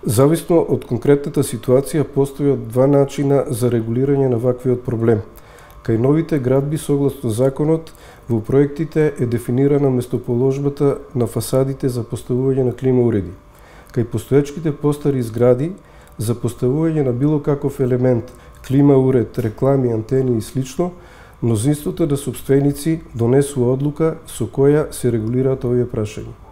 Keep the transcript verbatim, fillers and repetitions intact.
Зависно од конкретната ситуација постојат два начина за регулирање на ваквиот проблем. Кај новите градби согласно законот, во проектите е дефинирана местоположбата на фасадите за поставување на клима уреди. Кај постоечките постари згради, за поставување на било каков елемент, клима уред, реклами, антени и слично, мнозинството на сопственици донесува одлука со која се регулираат овие прашања.